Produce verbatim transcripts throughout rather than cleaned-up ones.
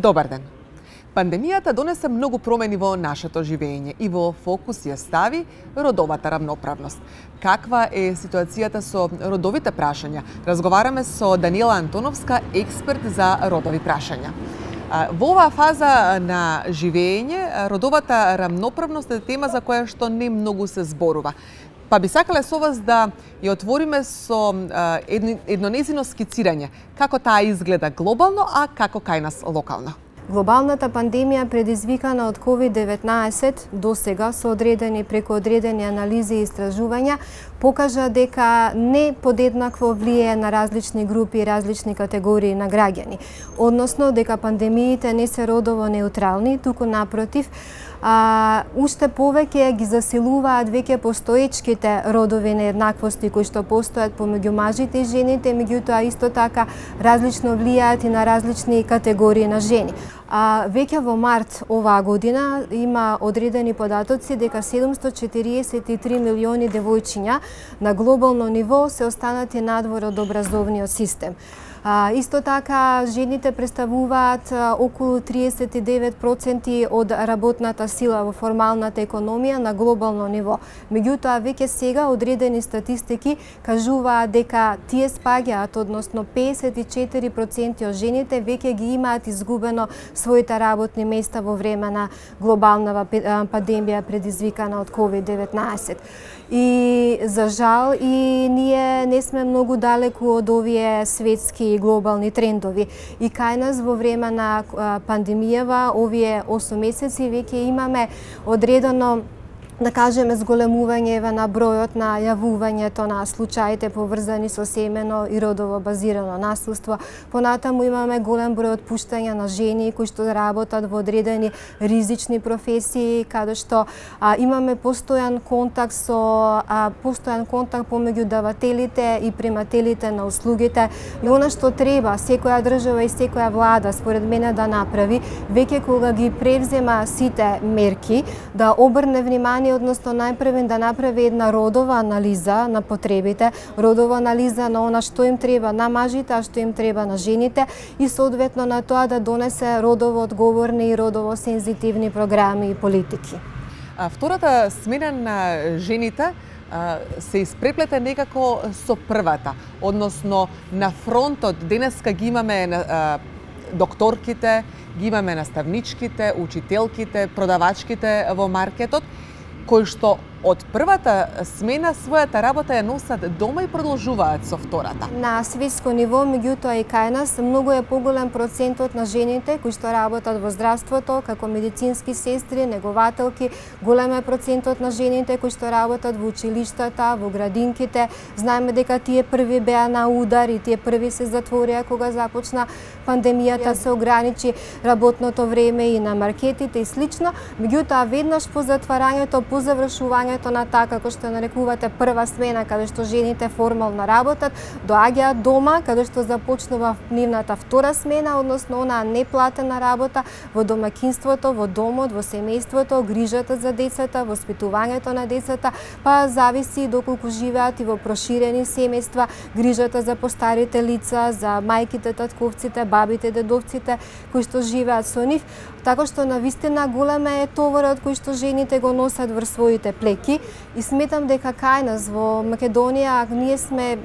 Добар ден! Пандемијата донесе многу промени во нашето живење и во фокус ја стави родовата рамноправност. Каква е ситуацијата со родовите прашања? Разговараме со Даниела Антоновска, експерт за родови прашања. Во оваа фаза на живење, родовата рамноправност е тема за која што не многу се зборува. Па би сакале со вас да ја отвориме со едно, едно незино скицирање, како таа изгледа глобално, а како кај нас локално. Глобалната пандемија предизвикана од ковид деветнаесет до сега со одредени преку одредени анализи и истражувања покажа дека не подеднакво влие на различни групи и различни категории на граѓани. Односно дека пандемиите не се родово неутрални, туку напротив, а, уште повеќе ги засилуваат веќе постоечките родови нееднаквости кои што постојат помеѓу мажите и жените, меѓутоа исто така различно влијаат и на различни категории на жени. А, веќе во март оваа година има одредени податоци дека седумстотини и четириесет и три милиони девојчиња на глобално ниво се останати надвор од образовниот систем. А, исто така, жените представуваат а, околу триесет и девет проценти од работната сила во формалната економија на глобално ниво. Меѓутоа, веќе сега одредени статистики кажуваат дека тие спаѓаат, односно песет и четири проценти од жените веќе ги имаат изгубено своите работни места во време на глобална пандемија предизвикана од ковид деветнаесет. И за жал и ние не сме многу далеку од овие светски и глобални трендови. И кај нас во време на пандемијава, овие осум месеци, веќе имаме одредено, да кажеме, зголемување на бројот на јавувањето на случаите поврзани со семено и родово базирано насилство. Понатаму имаме голем број отпуштања на жени кои што работат во одредени ризични професии, каде што а, имаме постојан контакт со а, постојан контакт помеѓу давателите и примателите на услугите. И она што треба секоја држава и секоја влада според мене да направи, веќе кога ги превзема сите мерки, да обрне внимание, односно најпрвен да направи една родова анализа на потребите, родова анализа на она што им треба на мажите, а што им треба на жените и соодветно на тоа да донесе родово одговорни и родово сензитивни програми и политики. А втората смена на жените се испреплете некако со првата, односно на фронтот денеска ги имаме докторките, ги имаме наставничките, учителките, продавачките во маркетот, кои што од првата смена својата работа ја носат дома и продолжуваат со втората. На светско ниво, меѓутоа и кај нас, многу е поголем процентот на жените кои што работат во здравството, како медицински сестри, негователки, голем е процентот на жените кои што работат во училиштата, во градинките. Знаеме дека тие први беа на удар и тие први се затворија кога започна пандемијата, се ограничи работното време и на маркетите и слично. Меѓутоа, веднаш по затварањето, по завршувањето на таа, како што нарекувате, прва смена, каде што жените формално работат, доаѓаат дома, каде што започнува нивната втора смена, односно онаа неплатена работа во домаќинството, во домот, во семејството, грижата за децата, воспитувањето на децата, па зависи доколку живеат и во проширени семејства, грижата за постарите лица, за мајките, татковците, бабите, дедовците кои што живеат со нив, така што навистина голем е товарот кој што жените го носат врз своите плеки и сметам дека кај нас во Македонија ние сме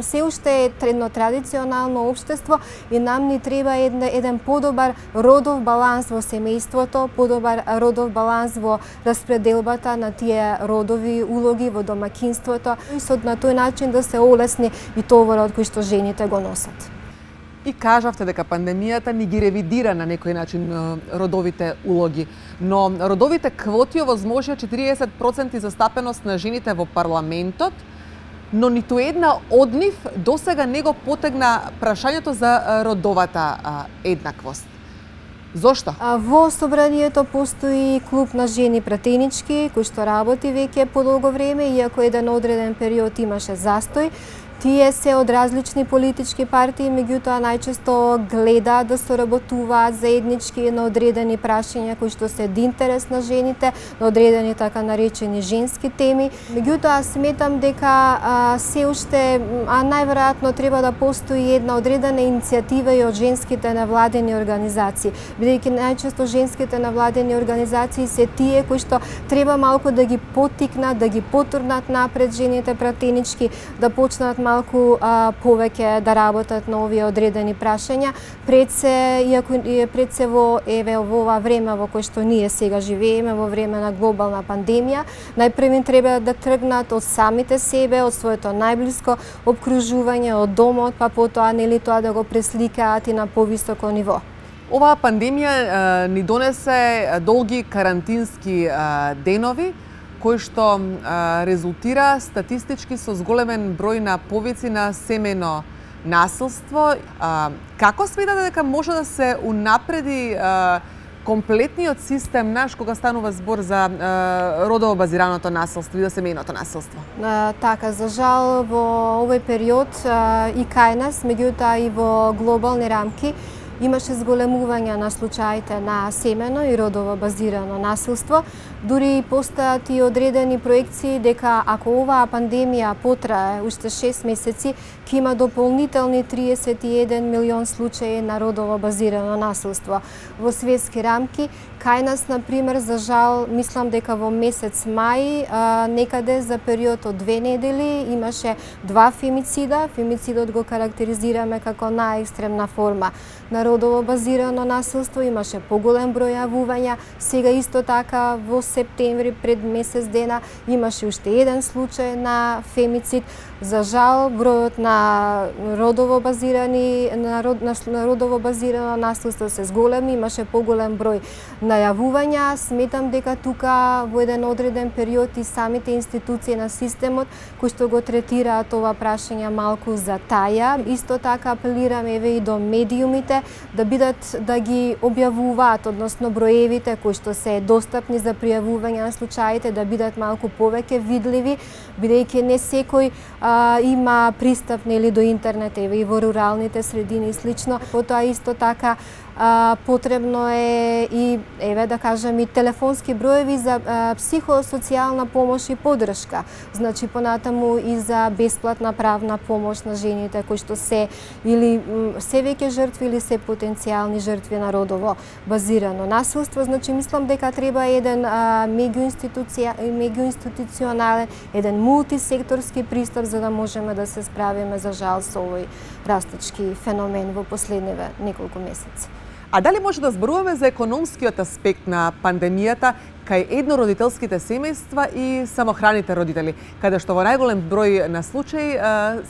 се уште едно традиционално општество и нам ни треба еден, еден подобар родов баланс во семејството, подобар родов баланс во распределбата на тие родови улоги во домаќинството и со на тој начин да се олесни и товарот кој што жените го носат. И кажавте дека пандемијата ни ги ревидира на некој начин родовите улоги, но родовите квоти овозможија четириесет проценти застапеност на жените во парламентот, но ниту една од нив досега не го потегна прашањето за родовата еднаквост. Зошто? Во собранието постои клуб на жени пратенички кој што работи веќе подолго време, иако еден одреден период имаше застој. Тие се од различни политички партии, меѓутоа најчесто гледаат да соработуваат заеднички на одредени прашања кои што се од интерес на жените, на одредени така наречени женски теми. Меѓутоа сметам дека а, се уште, а најверојатно треба да постои една одредена иницијатива и од женските невладени организации, бидејќи најчесто женските невладени организации се тие кои што треба малку да ги поттикнат, да ги потурнат напред жените пратенички, да почнат малку а, повеќе да работат на овие одредени прашања, пред се, иако пред се во, еве, во ова време во кое што ние сега живееме, во време на глобална пандемија, најпрви треба да тргнат од самите себе, од своето најблиско обкружување, од домот, па потоа нели тоа да го пресликаат и на повисоко ниво. Оваа пандемија е, ни донесе долги карантински е, денови, кои што а, резултира статистички со зголемен број на повици на семејно насилство. А, како сметате дека може да се унапреди а, комплетниот систем наш кога станува збор за а, родово базираното насилство и за семејното насилство? А, така, за жал во овој период а, и кај нас, меѓутоа и во глобални рамки, имаше зголемување на случаите на семено и родово базирано насилство. Дури постојат и одредени проекции дека ако оваа пандемија потрае уште шест месеци, ќе има дополнителни триесет и еден милион случаи на родово базирано насилство во светски рамки. Кај нас, например, за жал, мислам дека во месец мај, а, некаде за период од две недели, имаше два фемицида. Фемицидот го карактеризираме како најекстремна форма на родово базирано насилство, имаше поголем број јавувања. Сега исто така во септември пред месец дена имаше уште еден случај на фемицид. За жал, бројот на родово базирани на, род, на родово базирано насилство се зголеми, имаше поголем број најавувања. Сметам дека тука во еден одреден период и самите институции на системот кои што го третираат ова прашање малку за таја. Исто така апелирам еве и до медиумите да бидат да ги објавуваат, односно броевите кои што се достапни за пријавување на случаите да бидат малку повеќе видливи, бидејќи не секој а, има пристап нели до интернет, еве и во руралните средини и слично. Потоа исто така А, потребно е и, еве да кажем, и телефонски броеви за а, психосоцијална помош и поддршка. Значи, понатаму и за бесплатна правна помош на жените кои што се или се веќе жртви или се потенцијални жртви на родово базирано насилство. Значи, мислам дека треба еден меѓуинституционален, еден мултисекторски пристап за да можеме да се справиме за жал со овој растечки феномен во последниве неколку месеци. А дали може да зборуваме за економскиот аспект на пандемијата кај еднородителските семејства и самохраните родители, каде што во најголем број на случаи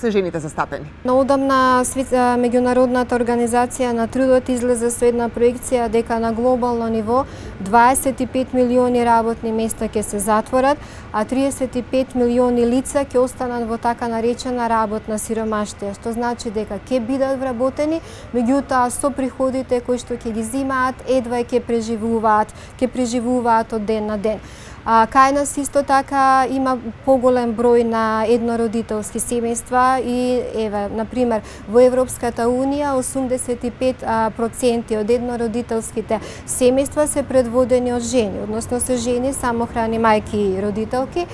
се жените застапени? Наодамна меѓународната организација на трудот излезе со една проекција дека на глобално ниво дваесет и пет милиони работни места ќе се затворат, а триесет и пет милиони лица ќе останат во така наречена работна сиромаштија, што значи дека ќе бидат вработени, меѓутоа со приходите кои што ќе ги земаат едва ќе преживуваат, ќе преживуваат од ден на ден. А, кај нас исто така има поголем број на еднородителски семејства и еве, например, во Европската унија осумдесет и пет проценти од еднородителските семејства се предводени од жени, односно се жени самохрани мајки и родителки.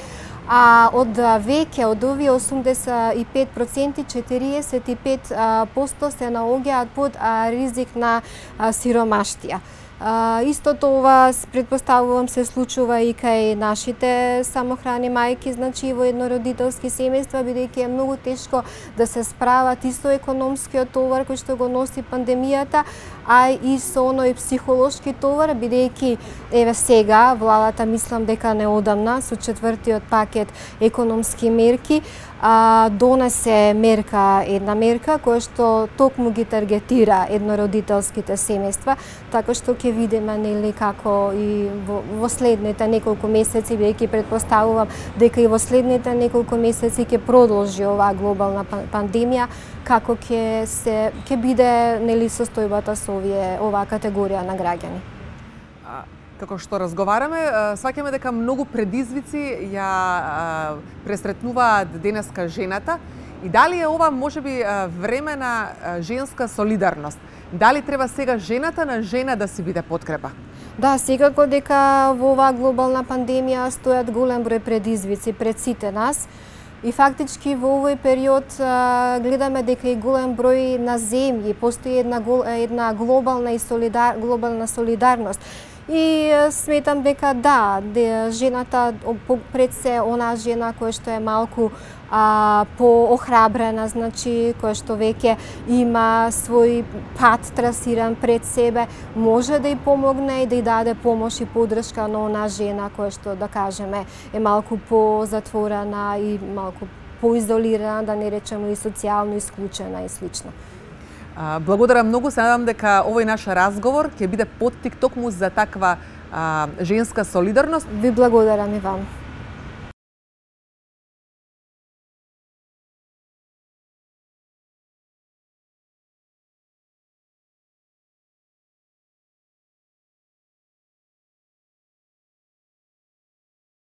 А од веќе од овие осумдесет и пет проценти четириесет и пет проценти се наоѓаат под ризик на сиромаштија. А, истото ова, предпоставувам, се случува и кај нашите самохрани мајки, значи во еднородителски семејства, бидејќи е многу тешко да се справат и со економскиот товар кој што го носи пандемијата, а и со оној психолошки товар, бидејќи еве сега владата, мислам дека неодамна со четвртиот пакет економски мерки а, донесе мерка, една мерка која што токму ги таргетира еднородителските семејства, така што ќе видиме нели како и во, во следните неколку месеци, бидејќи претпоставувам дека и во следните неколку месеци ќе продолжи оваа глобална пандемија, како ќе се ќе биде нели состојбата со овие оваа категорија на граѓани. Како што разговараме, сваќаме дека многу предизвици ја пресретнуваат денеска жената И дали е ова можеби време на женска солидарност? Дали треба сега жената на жена да си биде подкрепа? Да, секако дека во оваа глобална пандемија стојат голем број предизвици пред сите нас. И фактички во овој период а, гледаме дека и голем број на земји постои една една глобална и солидар глобална солидарност. И сметам дека да, де, жената пред се она жена која што е малку а, поохрабрена, значи која што веќе има свој пат трасиран пред себе, може да ја помогне и да ја даде помош и поддршка на она жена која што, да кажеме, е малку позатворена и малку поизолирана, да не речеме и социјално исклучена и слично. Благодарам многу, се надам дека овој наш разговор ќе биде поттик токму за таква а, женска солидарност. Ви благодарам и вам.